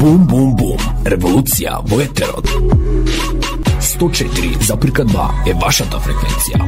Бум, бум, бум. Револуција во етерот. 104,2 е вашата фреквенција.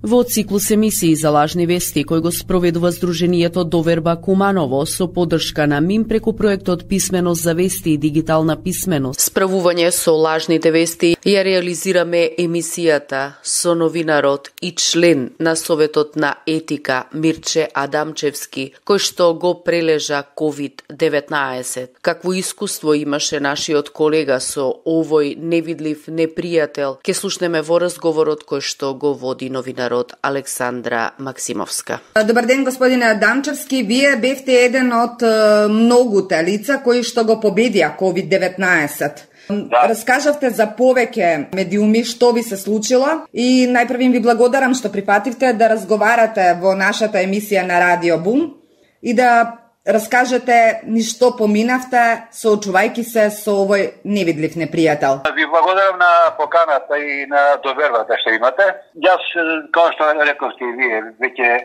Во циклус емисии за лажни вести, кој го спроведува Сдруженијето Доверба Куманово со поддршка на МИМ преку проектот Писменост за вести и дигитална писменост. Справување со лажните вести ја реализираме емисијата со новинарот и член на Советот на етика Мирче Адамчевски, кој што го прележа COVID-19. Какво искуство имаше нашиот колега со овој невидлив непријател, ке слушнеме во разговорот кој што го води новинарот Александра Максимовска. Добар ден, господине Адамчевски. Вие бевте еден од многуте лица кои што го победија COVID-19. Да. Раскажавте за повеќе медиуми што ви се случило и најпрвим ви благодарам што прифативте да разговарате во нашата емисија на Радио Бум и да раскажете ни што поминавте соочувајќи се со овој невидлив непријател. Ви благодарам на поканата и на довербата што имате. Јас, како што рековте и вие, веќе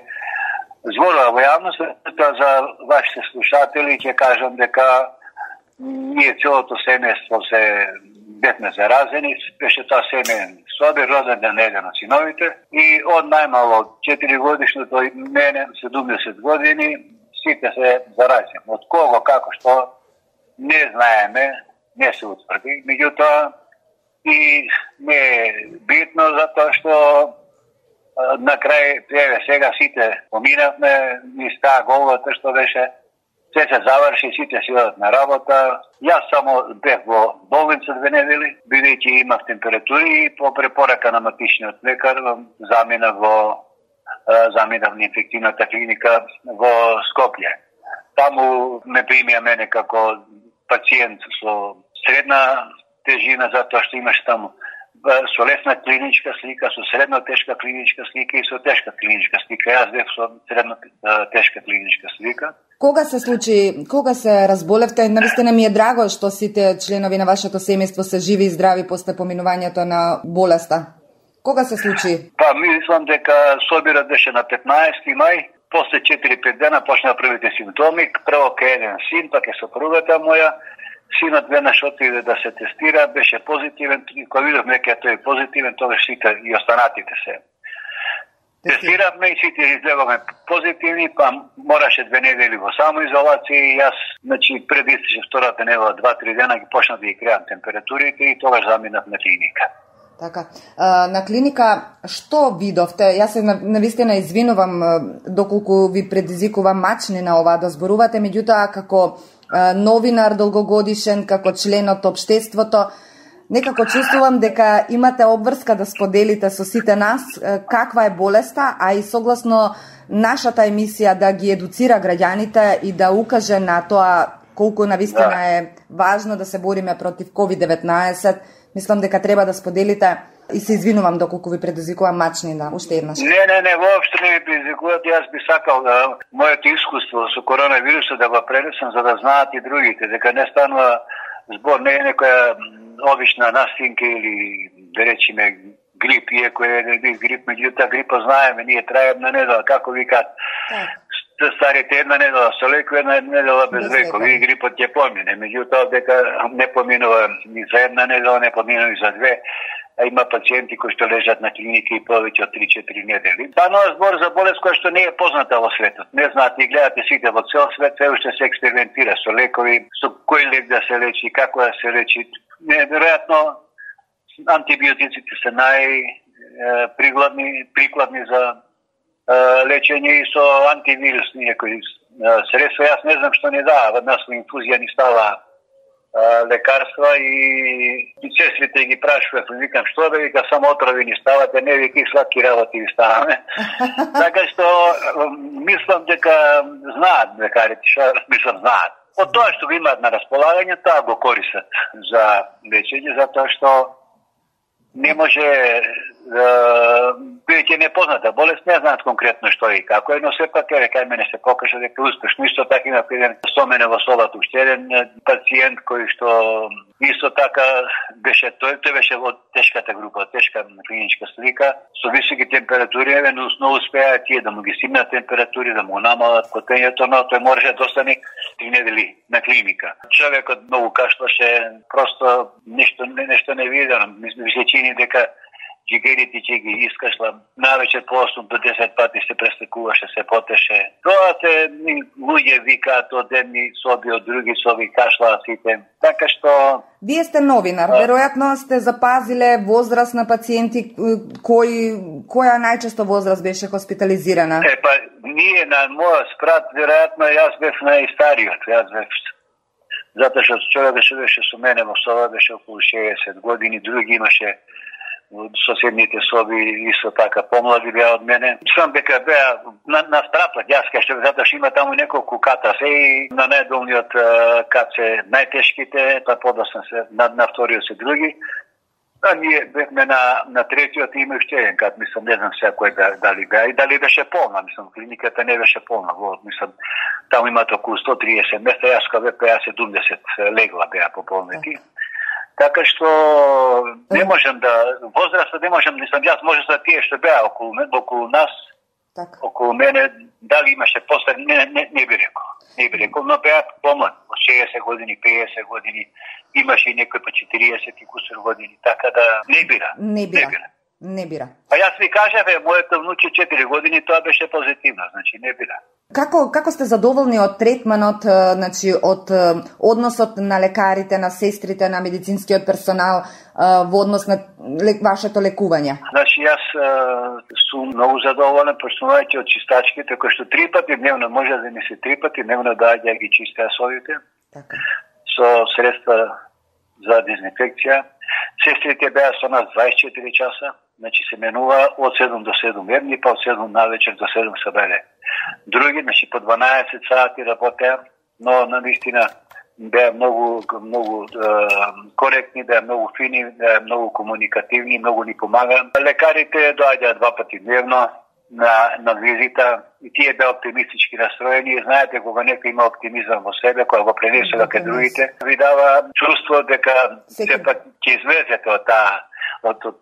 зборува во јавноста за вашите слушатели, ќе кажам дека ние целото семејство се бевме заразени, беше тоа семеен собир, роден ден еден од синовите и од најмало 4 годишното и мене 70 години сите се заразени. Од кого, како, што, не знаеме, не се утврди. Меѓутоа, и не е битно, затоа што на крај, сега сите поминавме, ни стаа головата што беше, се заврши, сите си одат на работа. Јас само бех во болница 2 недели, бидејќи имав температури и по препорака на матичниот лекар заминав на инфективната клиника во Скопје. Таму ме примија мене како пациент со средна тежина, затоа што имаш таму со лесна клиничка слика, со средно тешка клиничка слика и со тешка клиничка слика. Јас бев со средно тешка клиничка слика. Кога се случи, кога се разболевте? Навистина ми е драго што сите членови на вашето семејство се живи и здрави после поминувањето на болеста. Кога се случи? Па, мислам дека собирот беше на 15 мај, после 4-5 дена почна првите симптоми, прво ке еден син, па ке сопругата моја. Синот веднаш отиде да се тестира, беше позитивен, кога видовме дека тој е позитивен, тогаш сите и останатите се. Тестиравме и сите излегаме позитивни, па мораше 2 недели во самоизолација и јас, значи, пред истече втората недела, 2-3 дена ги почнав да ги креам температурите и тогаш заминав на клиника. Така. На клиника што видовте? Јас се навистина извинувам доколку ви предизвикувам мачнина ова да зборувате, меѓутоа како новинар долгогодишен, како член од општеството, некако чувствувам дека имате обврска да споделите со сите нас каква е болеста, а и согласно нашата емисија да ги едуцира граѓаните и да укаже на тоа колку навистина е важно да се бориме против COVID-19. Мислам дека треба да споделите и се извинувам доколку ви предизвикувам мачнина уште еднаш. Не, воопшто не ми предизвикувате. Јас би сакал моето искуство со коронавирусот да го пренесам за да знаат и другите, дека не станува збор, не е некоја обична настинка или да речеме грип, иако е грип, меѓутоа грипа знаеме, ние трае една недела, како викаат. Старите една недела со лекови, една недела без лекови, и грипот ќе помине. Меѓутоа дека не поминува ни за една недела, не поминува и за 2, а има пациенти кои што лежат на клиники и повеќе од 3-4 недели. Станува збор за болест која што не е позната во светот. Не знаат и гледате сите во цел свет, се уште се експериментира со лекови, со кој лек да се лечи, како да се лечи. Неверојатно антибиотиците се прикладни за лечење и со антивирусни некои средства. Јас не знам што не дава, веднаш во инфузија ни става лекарства и сестрите ги прашуват, викам што да вика, само отрови ни ставате, не вика и сладки работи ви ставаме. Така што мислам дека знаат лекарите, што мислам знаат. Од тоа што го имаат на располагање, тоа го користат за лечење, затоа што не може бидејќи непозната болест, не знаат конкретно што и како е, но сепак кај мене се покажа дека е успешно. Исто така има еден со мене во собата уште еден пациент кој што исто така беше тој беше во тешката група, тешка клиничка слика, со високи температури, но успеа тие да му ги стигнат температури, да му намалат котењето, но тој можеше да остане 3 недели на клиника. Човекот многу кашлаше, просто нешто невидено. Ми се чини дека джигерите ќе ги искашла. Навечер по 8 до 10 пати се престекуваше, се потеше. Тоа се луѓе викаат од едни соби, од други соби, кашлаат сите. Така што... Вие сте новинар, веројатно сте запазиле возраст на пациенти, која најчесто возраст беше хоспитализирана? Ние на мојот спрат, веројатно јас бев најстариот. Затоа што човекот што беше со мене во соба беше околу 60 години, други имаше соседните соби исто така помлади беа од мене. Сам дека беа на спратот, јас кај затоа што има таму неколку ката се и на најдолниот кат се најтешките, па подоцна се на вториот се други. А ние бевме на третиот и има уште еден кат, мислам, не знам сега кој дали беа и дали беше полна, мислам, клиниката не беше полна, мислам, таму имат околу 130 места, јас кога беа 70 легла беа пополнети. Така што не можам да возрастот не можам, мислам, јас може за тие што беа околу нас, така. Околу мене, дали имаше после, не би рекол. Не би рекол, но беа помлад, 60 години, 50 години, имаше и некој по 40 и кусор години, така да не бира. А јас ви кажав, моето внуче 4 години, тоа беше позитивно, значи не бира. Како сте задоволни од третманот, значи од односот на лекарите, на сестрите, на медицинскиот персонал во однос на вашето лекување? Значи јас сум многу задоволен, почнувајќи од чистачките, кои што 3 пати дневно може да ми се 3 пати дневно доаѓа ги чистеа совите. Така. Со средства за дезинфекција. Сестрите беа со нас 24 часа, значи се менува од 7 до 7 едни, па од 7 навечер до 7 сабеле. Други, значи по 12 сати работеа, но наистина беа многу коректни, беа многу фини, беа многу комуникативни, многу ни помагаат. Лекарите доаѓаат 2 пати дневно на визита и тие беа оптимистички настроени. Знаете, кога некој има оптимизам во себе, кога го пренесува кај другите, ви дава чувство дека сепак ќе излезете од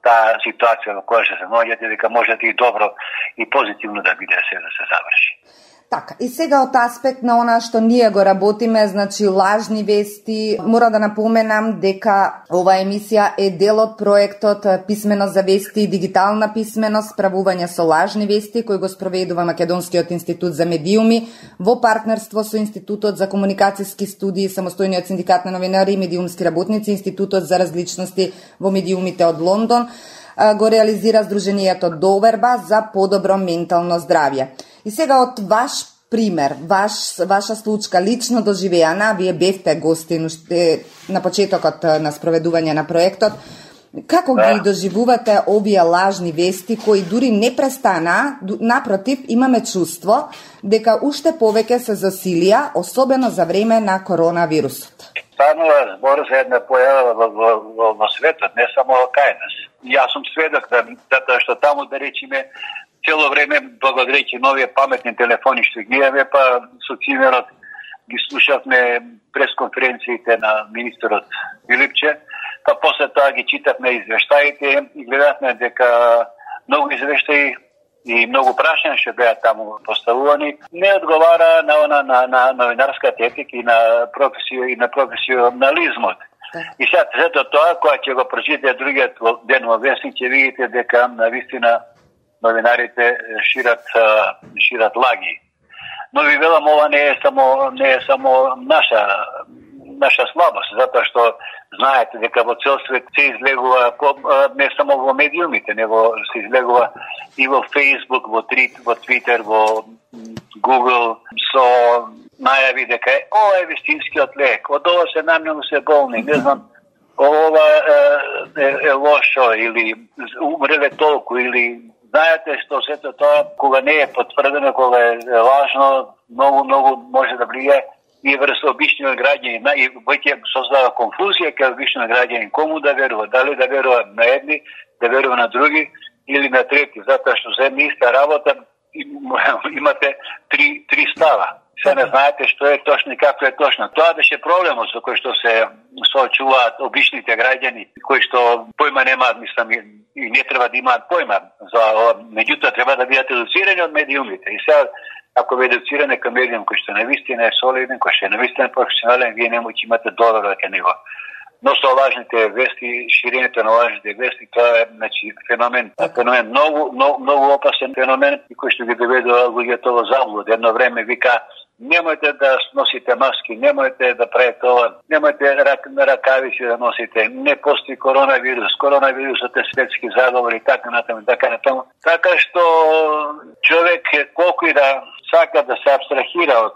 таа ситуација во која се наоѓате, дека можете и добро и позитивно да биде се да се заврши. Така, и сега од аспект на она што ние го работиме, значи лажни вести, мора да напоменам дека оваа емисија е дел од проектот Писменост за вести и дигитална писменост, справување со лажни вести, кој го спроведува Македонскиот институт за медиуми во партнерство со Институтот за комуникацијски студии, Самостојниот синдикат на новинари и медиумски работници, Институтот за различности во медиумите од Лондон, го реализира Сдруженијето Доверба за подобро ментално здравје. И сега од ваш пример, ваша случка лично доживеана, вие бевте гости на почетокот на спроведување на проектот, како ги доживувате овие лажни вести кои дури не престана, напротив, имаме чувство дека уште повеќе се засилија, особено за време на коронавирусот? Станува збор за една појава во светот, не само кај нас. Јас сум сведок затоа што таму, да речеме, цело време, благодарејќи новија паметни телефони што ги имаме, па со цимерот ги слушавме пресконференциите на министерот Филипче, па после тоа ги читавме извештаите и гледавме дека многу извештаи и многу прашања што беа таму поставувани, не одговара на новинарската етика и на професионализмот. И сега зато тоа, кога ќе го прочитате другиот ден во вестник, ќе видите дека навистина новинарите шират лаги. Но ви велам, ова не е само наша слабост, затоа што знаете дека во цел свет се излегува не само во медиумите, него се излегува и во Facebook, во Twitter, во Google, со најави дека ова е вистинскиот лек, од ова се намногу се болни, не знам, ова е лошо или умреле толку, или знаете што сето тоа, кога не е потврдено, кога е лажно, многу може да влијае и врз обичниот граѓанин, и веќе создава конфузија кај обичниот граѓанин, кому да верува, дали да верува на едни, да верува на други или на трети, затоа што за една иста работа имате три става. Се не знаете што е точно и како е точно. Тоа беше проблемот со кој што се соочуваат обичните граѓани, кои што појма немаат, мислам, и не треба да имаат појма за ова, меѓутоа треба да бидат едуцирани од медиумите. И сега ако ве едуциране кај медиум кој што навистина е солиден, кој што е навистина професионален, вие не можете имате доверба кај него. Но со лажните вести, ширењето на лажните вести, тоа е феномен многу опасен феномен кој што ги доведува луѓето во заблуда. Едно време вика немојте да носите маски, немојте да правите ова, немојте ракавици да носите, не постои коронавирус, коронавирусот е светски заговор и така натаму. Така што човек колку и да сака да се абстрахира од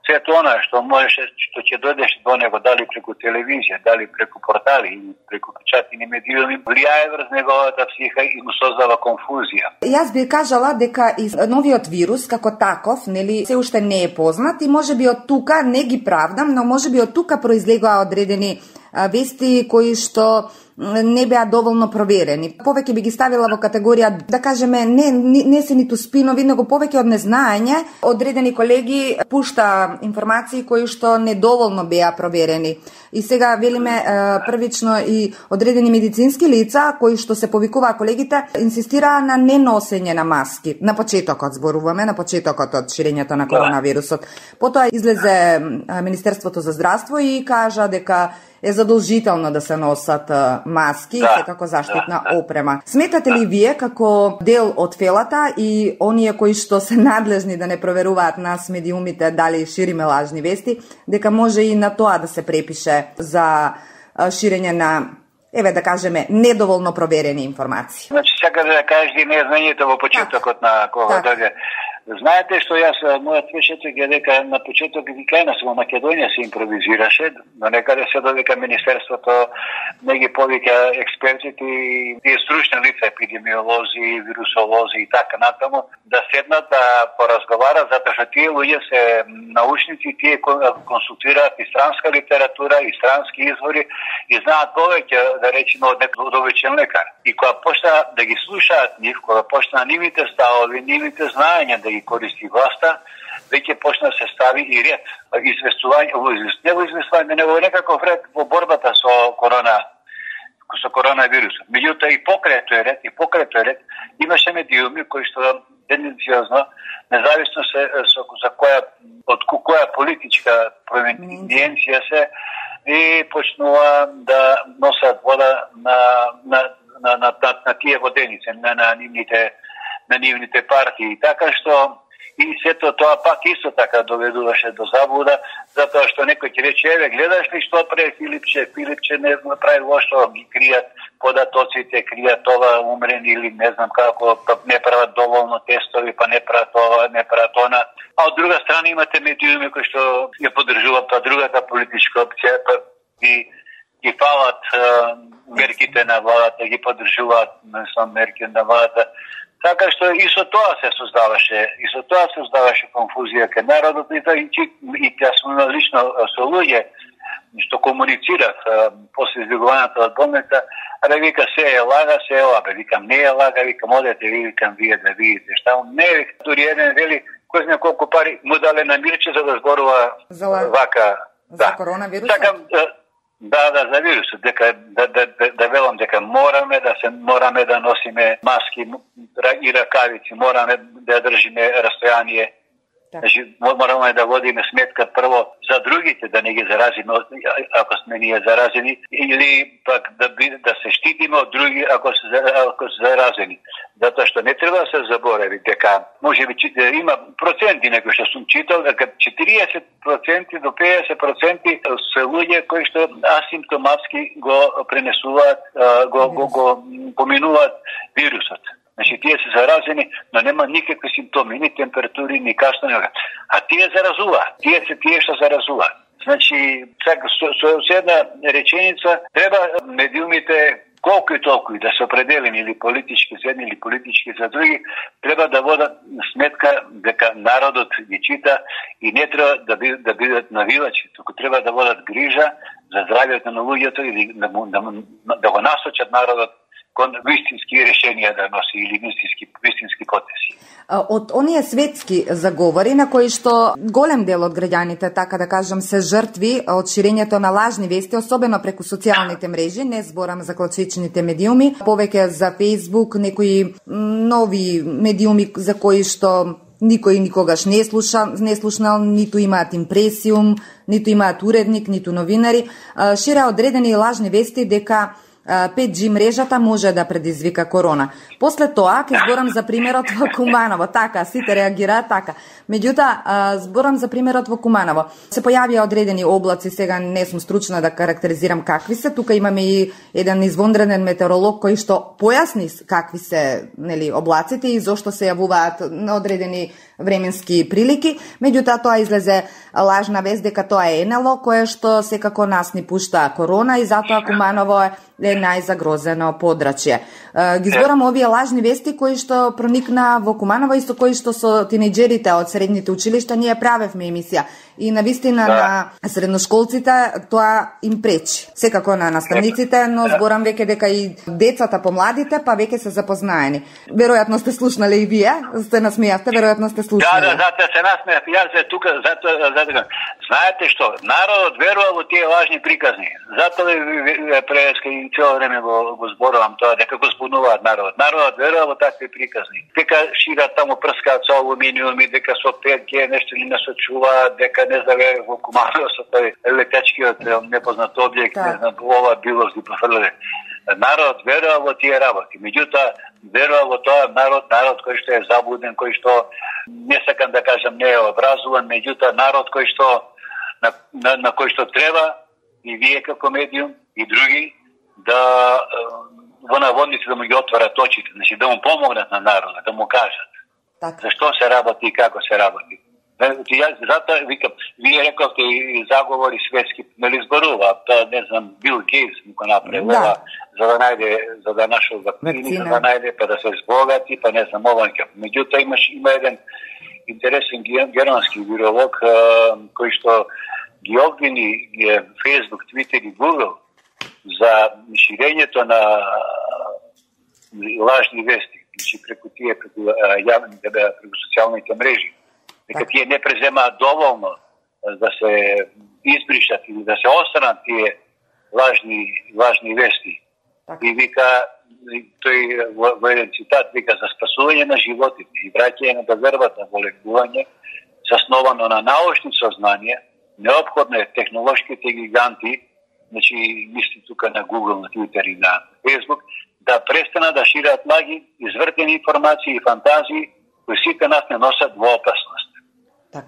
сето она што можеше, што ќе дојдеш до него, дали преку телевизија, дали преку портали или преку печатни медиуми, влијае врз неговата психа и му создава конфузија. Јас би кажала дека и новиот вирус како таков, нели, се уште не е познат и можеби од тука, не ги правдам, но можеби од тука произлегоа одредени вести кои што не беа доволно проверени. Повеќе би ги ставила во категорија, да кажеме, не се ниту спинови, него повеќе од незнаење. Одредени колеги пушта информации кои што недоволно беа проверени. И сега велиме првично и одредени медицински лица кои што се повикуваа колегите инсистираа на неносење на маски. На почетокот зборуваме, на почетокот од ширењето на коронавирусот. Потоа излезе Министерството за здравство и кажа дека е задолжително да се носат маски и секако заштитна опрема. Сметате ли вие како дел од фелата и оние кои што се надлежни да не проверуваат нас медиумите дали шириме лажни вести, дека може и на тоа да се препише за ширење на, да кажеме, недоволно проверени информации? Значи, сака да кажеш и незнањето во почетокот на кога дојде. Знаете што јас, мојот впечаток е дека на почеток и кај во Македонија се импровизираше, но некаде се додека Министерството не ги повика експертите и тие стручни лица, епидемиолози, вирусолози и така натаму, да седнат да поразговарат, затоа што тие луѓе се научници, тие консултираат и странска литература, и странски извори и знаат повеќе, да речеме, од обичен лекар. И кога почна да ги слушаат нив, кога почна нивните ставови, нивните знаења да ги користи власта, веќе почна да се стави и ред. Известување, него некаков ред во борбата со коронавирусот. Меѓутоа и покрај тој ред, имаше медиуми кои што тенденциозно, независно за која политичка провинција се, и почнува да носат вода на тие воденици, на нивните партии. Така што и сето тоа пак исто така доведуваше до заблуда, затоа што некој ќе рече, гледаш ли што прави Филипче не прави лошо, ги кријат податоците, кријат ова умрени или не знам како, не прават доволно тестови, па не прават ова, не прават она. А од друга страна имате медиуми кои што ја поддржуваат другата политичка опција, па ги фалат мерките на владата, ги поддржуваат мерките на владата. Така што и со тоа се создаваше конфузија кај народот и јас сум лично со луѓе што комуницирав после избегувањето од болница, вика се е лага, се е лага, викам не е лага, викам одете, викам вие да видите што не е, дури еден вели кој знае колку пари му дале на Мирче за да зборува вака за коронавирусот. За вирусот, дека да велам дека мораме да носиме маски и ракавици, мораме да држиме растојание. Значи, мораме да водиме сметка прво за другите, да не ги заразиме ако сме ние заразени, или пак да се штитиме од други ако се заразени. Затоа што не треба да се заборави дека можеби има проценти некои што сум читал, дека 40% до 50% се луѓе кои што асимптоматски го пренесуваат, го поминуваат вирусот. Значи, тие се заразени, но нема никакви симптоми, ни температури, ни кашлење. А тие заразуваат. Тие се тие што заразуваат. Значи, со една реченица, треба медиумите колку и толку да се определени или политички за едни или политички за други, треба да водат сметка дека народот ги чита и не треба да бидат навивачи, туку треба да водат грижа за здравјето на луѓето и да го насочат народот кон вистински решенија да носи или вистински потеси. Од оние светски заговори на кои што голем дел од граѓаните, така да кажам, се жртви од ширењето на лажни вести, особено преку социјалните мрежи, не зборам за класичните медиуми, повеќе за Facebook, некои нови медиуми за кои што никој никогаш не слушнал, ниту имаат импресиум, ниту имаат уредник, ниту новинари, ширеа одредени лажни вести дека 5G мрежата може да предизвика корона. После тоа, ќе зборам за примерот во Куманово. Така, сите реагираат така. Меѓутоа, зборам за примерот во Куманово. Се појавија одредени облаци, сега не сум стручна да карактеризирам какви се. Тука имаме и еден извонреден метеоролог кој што појасни какви се, нели, облаците и зошто се јавуваат на одредени временски прилики. Меѓутоа, тоа излезе лажна вест дека тоа е НЛО, кое што секако нас ни пушта корона и затоа Куманово е најзагрозено подрачје. Ги зборам овие лажни вести кои што проникна во Куманово и со кои што со тинејџерите од средните училишта ние правевме емисија. И навистина на средношколците тоа им пречи. Секако на наставниците, но зборам веќе дека и децата помладите па веќе се запознаени. Веројатно сте слушнале и вие, сте насмејавте, веројатно сте слушнале. Да, се насмејав, јас тука затоа знаете што, народот верува во тие лажни приказни. Затоа преска и цело време го зборувам тоа дека го збунуваат народот. Народот верува во такви приказни. Дека шират таму прскаат со алуминиуми, дека со 5G нешто ни насочуваат, дека не знае во Куманово со тој летачкиот непознат објект, не знам, ова било ги пофрле. Народ верува во тие работи. Меѓутоа, верува во тоа народ кој што е заблуден, кој што не сакам да кажам не е образуван, меѓутоа народ кој што на кој што треба и вие како медиум и други да во наводници да му ги отворат очите, значи да му помогнат на народа, да му кажат зашто се работи и како се работи. Затоа викам, вие рековте и заговори светски, нели зборува, не знам, Бил Гейтс го направи ова, за да нашол вакцини, за да најде, па да се збогати, па не знам, ова. Меѓутоа има еден интересен германски виролог кој што ги обвини Facebook, Twitter и Google за ширењето на лажни вести, значи преку социјалните мрежи. Дека тие не преземаат доволно да се избришат или да се остранат тие лажни вести. И вика, тој во еден цитат вика за спасување на животите и враќање на вербата во лекување, засновано на научни сознание, неопходно е технолошките гиганти, значи мисли тука на Google, на Twitter и на Facebook, да престанат да шират лаги, извртени информации и фантазии, кои сите нас не носат во опасност.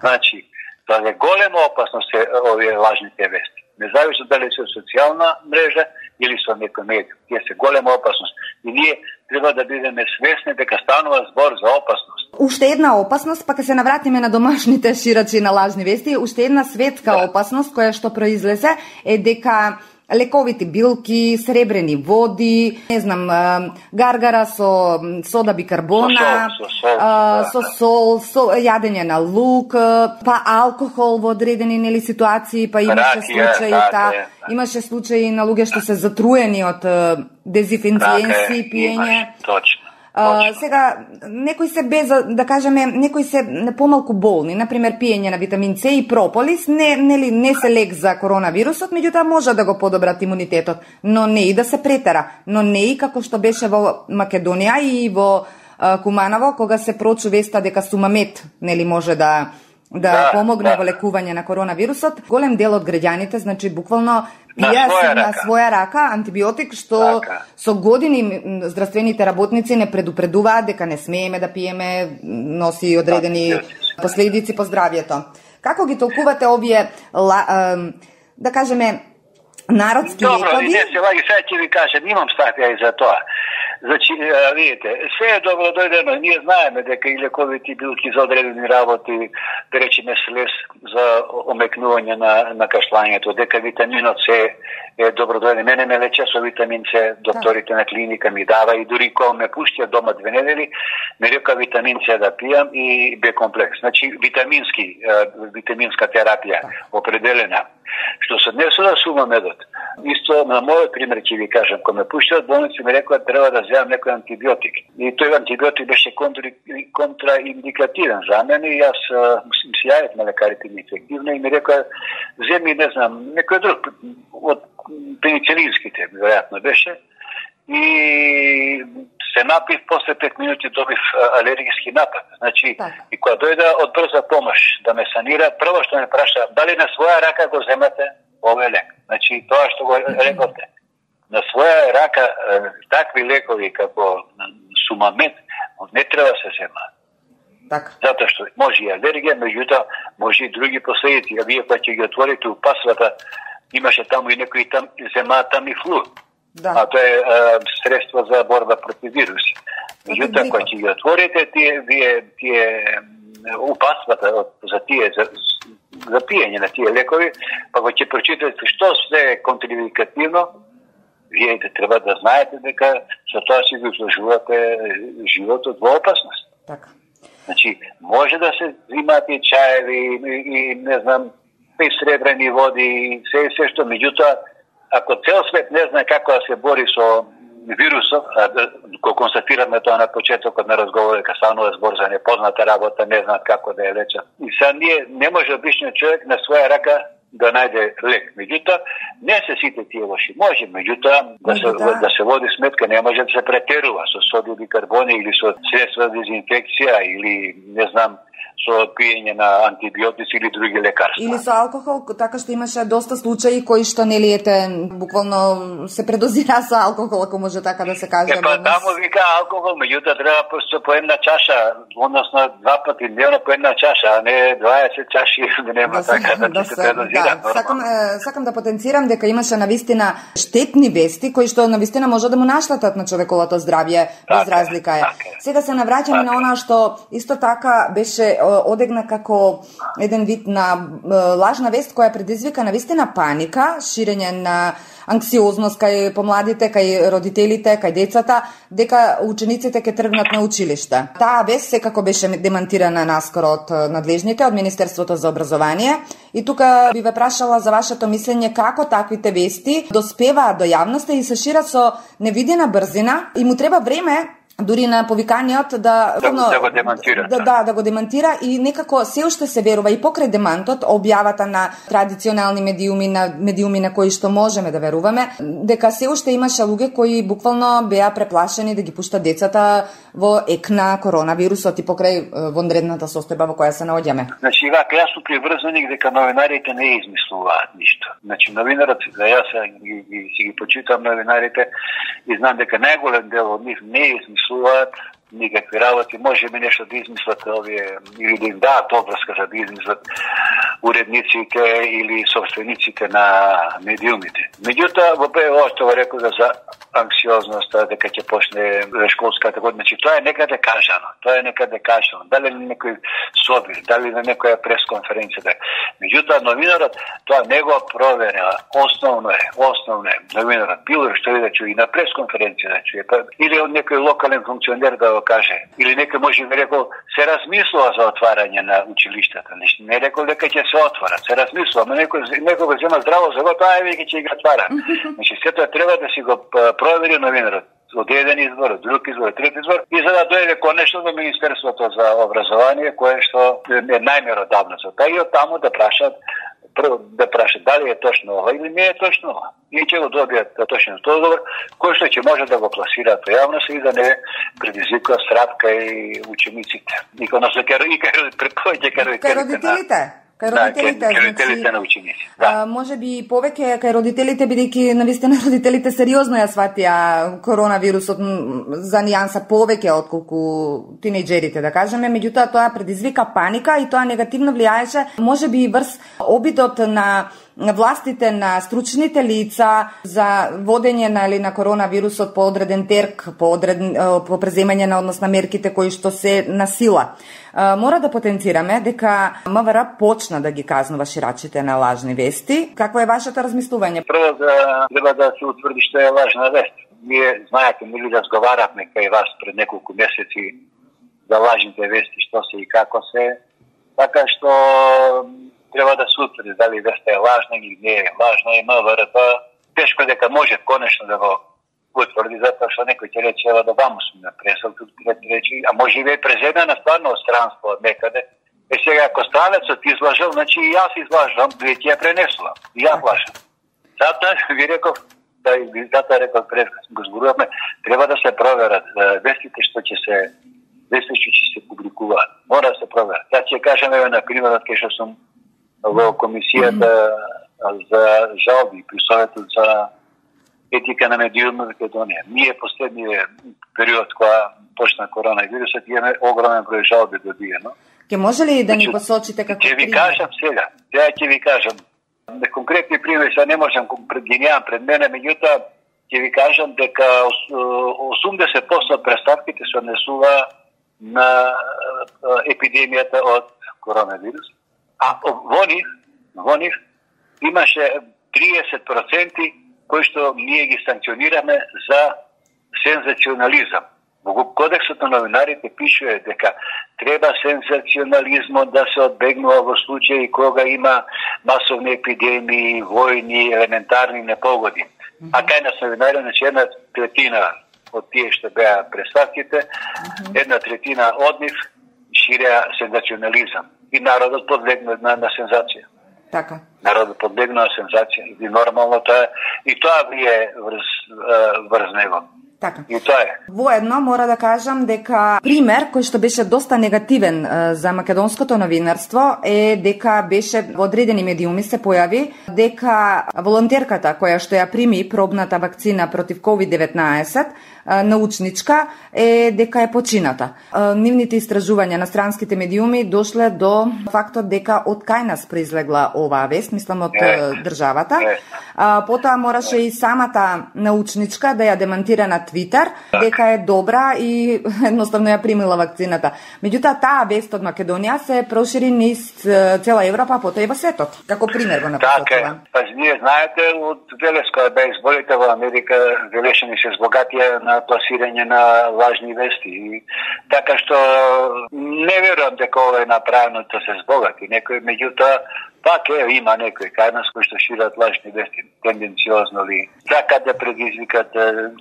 Значи, тоа е голема опасност овие лажните вести. Независно дали се социјална мрежа или со некој медиум. Тие се голема опасност. И ние треба да бидеме свесни дека станува збор за опасност. Уште една опасност, па ќе се навратиме на домашните ширачи на лажни вести, уште една светска опасност која што произлезе е дека лековити билки, сребрени води, не знам, гаргара со сода бикарбона, со сол, со јадење на лук, па алкохол во одредени нели ситуации, па имаше случаи на луѓе што се затруени од дезинфекцијенси пиење. Точно. Сега, некои се без, да кажеме, некои се помалку болни, например пиење на витамин С и прополис, не се лек за коронавирусот, меѓутоа може да го подобрат имунитетот, но не и да се претера, но не и како што беше во Македонија и во Куманово, кога се прочу веста дека сумамет, нели може да помогне во лекување на коронавирусот. Голем дел од граѓаните, значи буквално пија на своја рака антибиотик, што со години здравствените работници не предупредуваат дека не смееме да пиеме, носи одредени последици по здравјето. Како ги толкувате овие, да кажеме, народски лекови? Добро, не се лаги, сега ќе ви кажем, имам статија и за тоа. Значи, видите, се е добро дојдено, ние знаеме дека и лековите билки за одредени работи, да речеме слез за омекнување на кашлањето, дека витаминот С е добро дојден. Мене ме лече со витамин С, докторите на клиника ми дава и дури кога ме пуштија дома 2 недели, ме река витамин С да пијам и Б комплекс. Значи, витаминска терапија определена. Што се однесува на сумамедот. Исто на мојот пример ќе ви кажам, кога ме пуштија од болница ми рекоа треба да земам некој антибиотик. И тој антибиотик беше контраиндикативен за мене и јас се јавив на лекарите ми ефективно и ми рекоа земи, не знам, некој друг од пеницилинските, веројатно беше. И се напив, после 5 минути добив алергиски напад. Значи, и кога дојде од брза помош да ме санира, прво што ме праша, дали на своја рака го земате овој лек. Значи, тоа што го рековте, на своја рака такви лекови како Сумамед не треба се земаат. Затоа што може и алергија, меѓутоа може и други последици. А вие кога ќе ги отворите упасвата, имаше таму и некои там земаат там и флу. А тоа е средство за борба против вируси. Меѓутоа кога ќе ги отворите тие упасвата за пиење на тие лекови, па кога ќе прочитате што се е контраиндикативно, вие треба да знаете дека со тоа си го изложувате животот во опасност. Така. Значи, може да се взимат и чаеви, и не знам, и сребрени води, и се што, меѓутоа, ако цел свет не знае како да се бори со вирусот, го констатираме тоа на почетокот на разговорот, дека станува збор за непозната работа, не знаат како да ја лечат. И сега ние не може обичниот човек на своја рака да најде лек. Меѓутоа, не се сите тие лоши. Може, меѓутоа, да се води сметка, не може да се претерува со соди бикарбони или со средства за дезинфекција или, не знам, со пиење на антибиотици или други лекарства. Или со алкохол, така што имаше доста случаи кои што нели буквално се предозира со алкохол, ако може така да се каже. Таму вика алкохол, меѓутоа треба просто по една чаша, односно 2 пати дневно по една чаша, а не 20 чаши, нема така да се предозира. Сакам да потенцирам дека имаше навистина штетни вести кои што навистина може да му наштетат на човековото здравје, без разлика е. Сега се навраќаме на она што исто така беше одегна како еден вид на лажна вест која предизвика навистина паника, ширење на анксиозност кај помладите, кај родителите, кај децата, дека учениците ќе тргнат на училиште. Таа вест секако беше демантирана наскоро од надлежните, од Министерството за образование. И тука би ве прашала за вашето мислење како таквите вести доспеваат до јавноста и се шират со невидена брзина и му треба време дури на повиканиот да го демантира. Да го демантира и некако се уште се верува и покрај демантот, објавата на традиционални медиуми на кои што можеме да веруваме, дека се уште имаше луѓе кои буквално беа преплашени да ги пуштат децата во ек на коронавирусот и покрај вонредната состојба во која се наоѓаме. Значи, јас сум приврзаник дека новинарите не измислуваат ништо. Значи, новинарот, јас си ги почитам новинарите и знам дека најголем дел од нив не измислуваат никакви работи, може би нешто да измислат овие, или да им даат обврска за да измислат уредниците или собствениците на медиумите. Меѓутоа, во БО што го рекол за анксиозноста, дека ќе почне школската година, значи тоа е некаде кажано. Дали на некој собир, дали на некоја пресконференција. Меѓутоа, новинарот тоа не го проверила. Основно е новинарот било што и да чуе и на пресконференција да чуе, или од некој локален функционер да го каже, или некој може би рекол се размислува за отварање на училиштата. Не рекол дека ќе се отворат, се размислува, но некој го зема здраво за готово, веќе ќе ги отвара. Значи сето треба да си го провери новинарот од еден избор, од друг избор, трет избор, и за да дојде конечно до Министерството за образование, кое што е најмеродавно за тоа, и од таму да прашат дали е точно ова или не е точно ова. И ќе го добијат точен одговор, кој што ќе може да го пласираат во јавност и да не предизвикува страх кај учениците. И кај родителите. Кај родителите на ученици. Може би повеќе кај родителите, бидејќи навистина родителите сериозно ја сватија коронавирусот за нијанса повеќе отколку тинејџерите, да кажеме, меѓутоа тоа предизвика паника и тоа негативно влијаеше, може би и врз обидот на властите, на стручните лица за водење на коронавирусот по одреден терк, по преземање на однос на мерките кои што се на сила. Мора да потенцираме дека МВР почна да ги казнува ширачите на лажни вести. Какво е вашето размислување? Прво треба да се утврди што е лажна вест. Ние знаете, ми разговаравме кај вас пред неколку месеци за лажните вести, што се и како се. Така што треба да се утврди дали веста е лажна или не е лажна и МВР тешко дека може конечно да го утврди, затоа што некој ќе рече да ваму сме на пресал, тут рече, а може би е преземена стварно од странство од некаде. Сега ако странецот излажал, значи и јас излажам, вие ќе ја пренесувам. И ја лажам. Затоа ви реков, Затоа рекол пред го зборувавме, треба да се проверат вестите што ќе се публикуваат. Мора да се проверат. Ја ќе кажам на примерот кај што сум во комисијата за жалби при Советот за етика на медиуми во Македонија. Ние последниот период кога почна коронавирусот имаме огромен број жалби добиено. Ке може ли да ни посочите како пример? Ќе ви кажам сега. Ќе ви кажам. Конкретни примери не можам ги немам пред мене, меѓутоа ќе ви кажам дека 80% представките се однесува на епидемијата од коронавирус. А во нив имаше 30% кои што ние ги санкционираме за сензационализам. Во Кодексот на новинарите пишува дека треба сензационализмот да се одбегнува во случаи кога има масовни епидемии, војни, елементарни непогоди. А кај нас новинарите, значи 1/3 од тие што беа представките, 1/3 од нив ширеа сензационализам. И народот подлегна на сензација. Така. Народот подлегна на сензација. И нормално тоа влие врз него. Така. И тоа е. Воедно мора да кажам дека пример кој што беше доста негативен за македонското новинарство е дека беше во одредени медиуми се појави дека волонтерката која што ја прими пробната вакцина против COVID-19 научничка е дека е почината. Нивните истражувања на странските медиуми дошле до фактот дека од кај нас произлегла оваа вест, мислам од државата. Потоа мораше и самата научничка да ја демантира на Твитер дека е добра и едноставно ја примила вакцината. Меѓутоа таа вест од Македонија се прошири низ цела Европа, потоа и во светот. Како пример го напишувам. Така, па вие знаете од Велес кога беа изборите во Америка, велешени се збогатија на пласирање на лажни вести. И така што не верувам дека ова е направено да се збогати некој, меѓутоа пак има некои кај нас кои што шират лажни вести, тенденциозно ли, така да предизвикат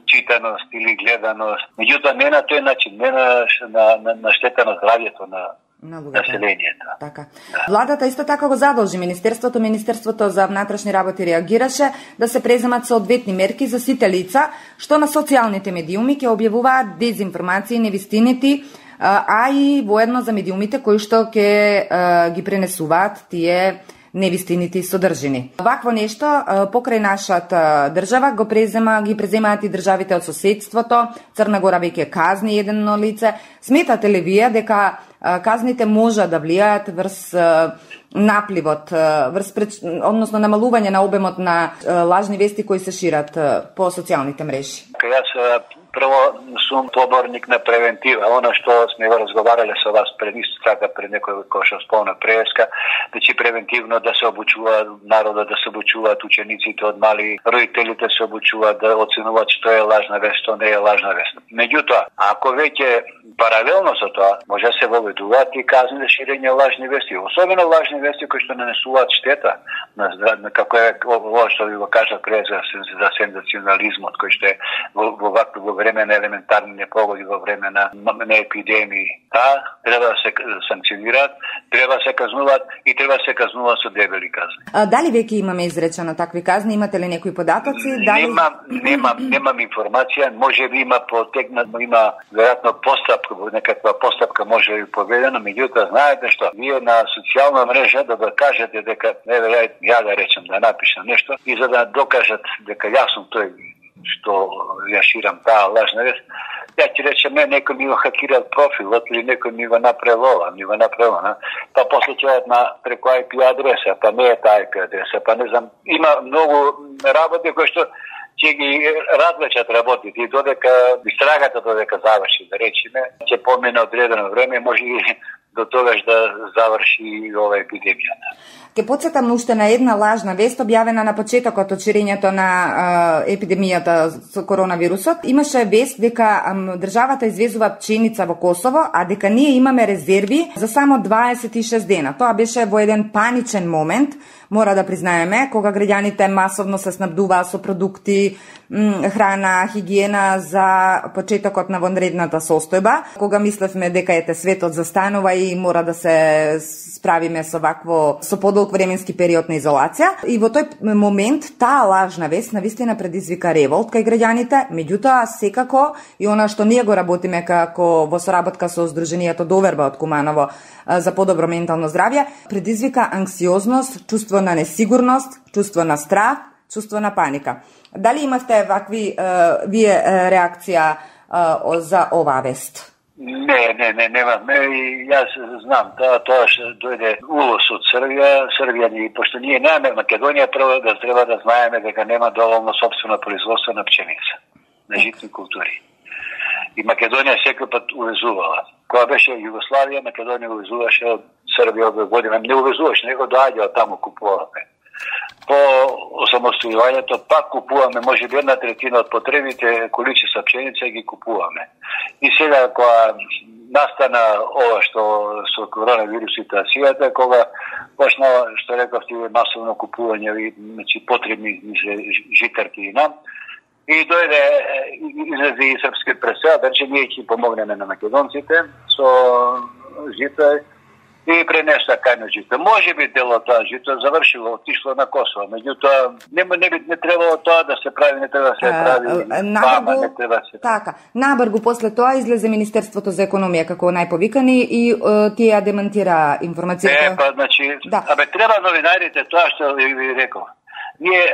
читаност или гледаност. Меѓутоа не на тој начин, не на штета на здравјето на населението. Така. Да. Владата исто така го задолжи Министерството за внатрешни работи реагираше да се преземат соодветни мерки за сите лица што на социјалните медиуми ќе објавуваат дезинформации, невистините, а и воедно за медиумите кои што ќе ги пренесуваат тие невистините и содржини. Вакво нешто покрај нашата држава ги преземаат и државите од соседството. Црна Гора веќе казни едно лице. Сметате ли вие дека казните може да влијаат врз напливот, односно намалување на обемот на лажни вести кои се шират по социјалните мрежи? Јас прво сум поборник на превентива. Она што сме го разговарале со вас пред некој кој што спомна преска, значи превентивно да се обучува народот, да се обучуваат учениците од мали, родителите се обучуваат да оценуваат што е лажна вест, што не е лажна вест. Меѓутоа, ако веќе паралелно со тоа може да се воведуваат и казни за ширење лажни вести, особено лажни вести кои што нанесуваат штета на здравје, како е ова што ви го кажа пред за сензационализмот кој што е во време на елементарни непогоди, во време на епидемии. Треба да се санкционираат, треба да се казнуваат и треба да се казнуваат со дебели казни. Дали веќе имаме изречено такви казни? Имате ли некои податоци? Немам информација, може би има има веројатно постапка, некаква постапка може би поведена, меѓутоа знаете што, вие на социјална мрежа да кажете дека ја да речем да напишам нешто и за да докажат дека јас сум тој што ја ширам таа лажна вест, ја ќе речем некој ми го хакирал профилот или некој ми го направил па после ќе на преку IP адреса, па не е таа IP адреса, па не знам, има многу работи кои што ќе ги развлечат работите и додека истрагата заврши, да речеме, ќе помине одредено време, може и до тогаш да заврши ова епидемијата. Ке потсетам уште на една лажна вест објавена на почетокот од ширењето на епидемијата со коронавирусот. Имаше вест дека државата извезува пченица во Косово, а дека ние имаме резерви за само 26 дена. Тоа беше во еден паничен момент, мора да признаеме, кога граѓаните масовно се снабдуваа со продукти, храна, хигиена за почетокот на вонредната состојба, кога мислевме дека светот застанува и дали мора да се справиме со подолг временски период на изолација. И во тој момент таа лажна вест навистина предизвика револт кај граѓаните, меѓутоа секако и она што ние го работиме како во соработка со Сдруженијето Доверба од Куманово за подобро ментално здравје, предизвика анксиозност, чувство на несигурност, чувство на страх, чувство на паника. Дали имавте вакви вие реакција за оваа вест? Не, немаме. И јас знам, тоа што дојде улос од Србија ни, пошто ние немаме Македонија, прво да треба да знаеме дека нема доволно собствено производство на пченица, на житни култури. И Македонија секој пат увезувала. Кога беше Југославија, Македонија увезуваше од Србија од година. Не увезуваше, него доаѓа таму купуваме. По осамостојувањето пак купуваме, може би 1/3 од потребите количества пшеница ги купуваме. И сега кога настана ова што со коронавирус ситуацијата, кога почна, што рековте, масовно купување, значи потребни житарки и нам, и дојде излезе и српски председател, че ние ќе помогнеме на македонците со жито и пренеса кајно жито. Може би дел од тоа жито завршило, отишло на Косово, меѓутоа не требало тоа да се прави, не треба да се прави. Така, набргу после тоа излезе Министерството за економија како најповикани и тие демантира информацијата. Значи, треба новинарите тоа што ви реков. Ние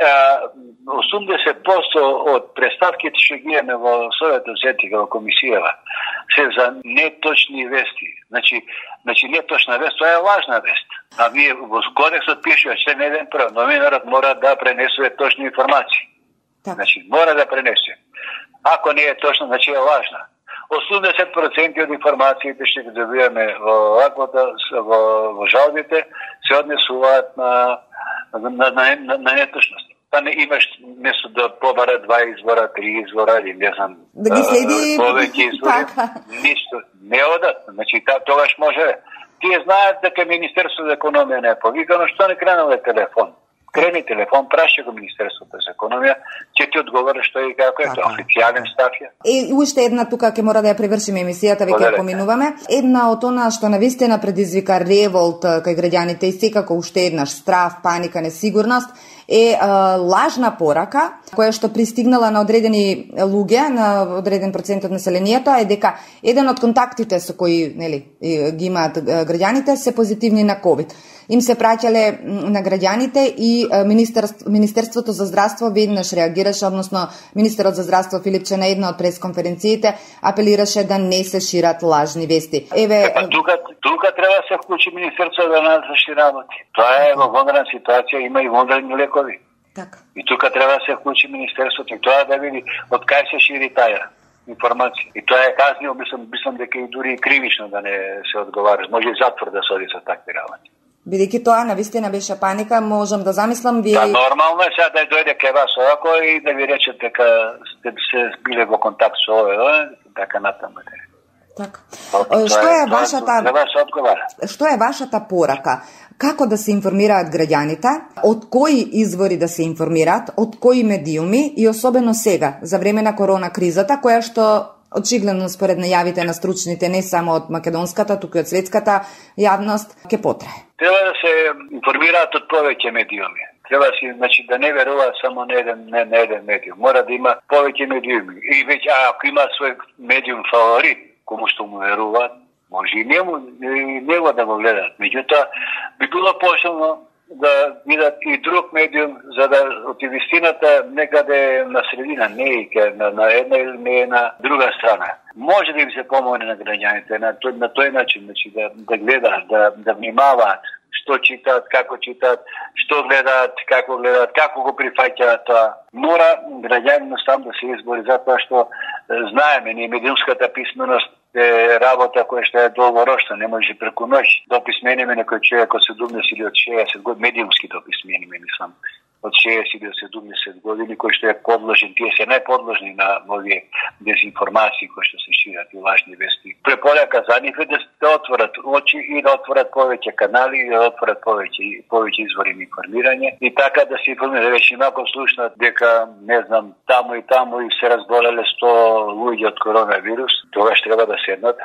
80% од представките што ги имаме во Советот за етика во комисијава се за неточни вести. Значи неточна вест, тоа е лажна вест. А вие во кодексот пишува че не ден прв, новинарот мора да пренесува точни информации. Так. Значи мора да пренесе. Ако не е точно, значи е лажна. 80% од информациите што ги добиваме во жалбите се однесуваат на неточност. Па не имаш место да побара 2 извора, 3 извора или не знам. Да ги следи повеќе извори. Ништо не одат. Значи тогаш може. Тие знаат дека Министерството за економија не е повикано, што не кренало телефон. Крени телефон, праша го Министерството за економија, ќе ти одговори што и како е, тоа официјален став е. И уште една тука ќе мора да ја привршиме емисијата, веќе ја поминуваме. Една од она што навистина предизвика револт кај граѓаните и секако уште еднаш страв, паника, несигурност е лажна порака која што пристигнала на одредени луѓе, на одреден процент од населението, е дека еден од контактите со кои ги имаат граѓаните се позитивни на ковид. Им се праќале на граѓаните и Министерството за здравство веднаш реагираше, односно министерот за здравство Филипче на една од пресконференциите апелираше да не се шират лажни вести. Тука треба да се вклучи Министерството да надврши работи. Тоа е во вонредна ситуација, има и вонредни лекови. Така. И тука треба да се вклучи Министерството и тоа да види од кај се шири таа информација. И тоа е казнио, мислам дека и дури кривично да не се одговара. Може и затвор да се оди со такви работи. Бидејќи тоа навистина беше паника, можам да замислам вие. Да, нормално е сега да дојде кај вас овако и да ви рече дека сте се биле во контакт со овој, така натаму. Така. Што е вашата порака? Како да се информираат граѓаните, од кои извори да се информираат, од кои медиуми и особено сега, за време на корона кризата, која што очигледно според најавите на стручните не само од македонската, туку и од светската јавност, ќе потрае? Треба да се информираат од повеќе медиуми. Треба значи да не веруваат само на еден медиум. Мора да има повеќе медиуми. И веќе ако има свој медиум фаворит, кому што му веруваат, може и него да го гледат. Меѓутоа, би било пошелно да видат и друг медиум, за да од вистината некаде на средина, не и на една или не на друга страна. Може да им се помогне на граѓаните на тој начин, значи да гледаат, да внимаваат што читаат, како читаат, што гледаат, како го прифаќаат тоа. Мора граѓанинот сам да се избори, затоа што знаеме, ние медиумската писменост е работа која што е долгорочна, не може преку ноќ да описмениме некој човек од 70 или од 60 години, медиумски да описмениме, мислам, од 60 или од 70 години, кој што е подложен, тие се најподложни на овие дезинформации кои што се шират и лажни вести. Препорака за нив е да отворат очи и да отворат повеќе канали и да отворат повеќе извори на информирање и така да се информираат. Веќе малку слушнат дека, не знам, таму и се разболеле 100 луѓе од коронавирус, тогаш треба да седнат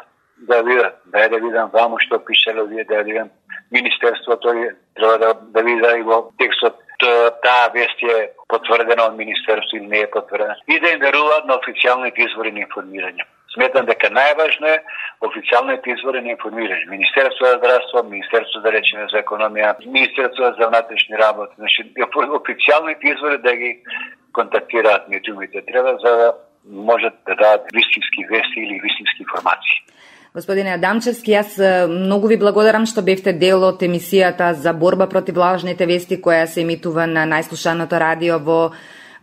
да видат. Да видам ваму што пишело вие, да видам Министерството, треба да вида и во текстот таа вест е потврдена од Министерството или не е потврдена. И да им веруваат на официјалните извори на информирање. Сметам дека најважно е официјалните извори на информирање. Министерство за здравство, Министерство да речеме за економија, Министерство за внатрешни работи. Значи, официјалните извори да ги контактираат медиумите треба за да можат да дадат вистински вести или вистински информации. Господине Адамчевски, јас многу ви благодарам што бевте дел од емисијата за борба против лажните вести која се емитува на најслушаното радио во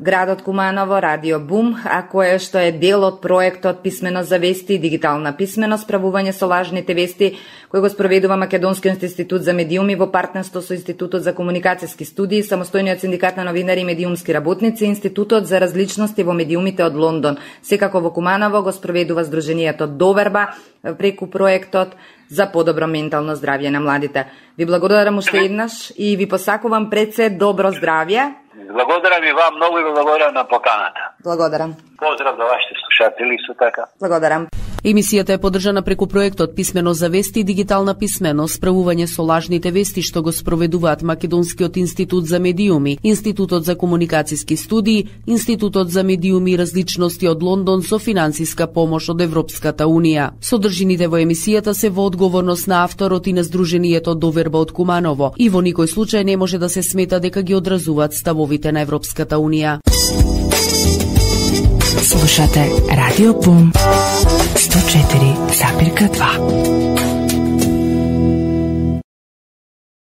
градот Куманово, Радио Бум, а кое што е дел од проектот Писменост за вести и дигитална писменост, справување со лажните вести, кој го спроведува Македонскиот институт за медиуми во партнерство со Институтот за комуникацијски студии, самостојниот синдикат на новинари и медиумски работници, Институтот за различности во медиумите од Лондон. Секако во Куманово го спроведува Сдруженијето Доверба преку проектот за подобро ментално здравје на младите. Ви благодарам уште еднаш и ви посакувам пред се добро здравје. Благодарам и вам многу и благодарам на поканата. Благодарам. Поздрав за вашите слушатели исто така. Благодарам. Емисијата е поддржана преку проектот Писменост за вести и дигитална писменост, справување со лажните вести што го спроведуваат Македонскиот институт за медиуми, Институтот за комуникацијски студии, Институтот за медиуми и различности од Лондон со финансиска помош од Европската унија. Содржините во емисијата се во одговорност на авторот и на Сдруженијето Доверба од Куманово и во никој случај не може да се смета дека ги одразуваат ставовите на Европската унија. Слушате Радио Бум 104,2.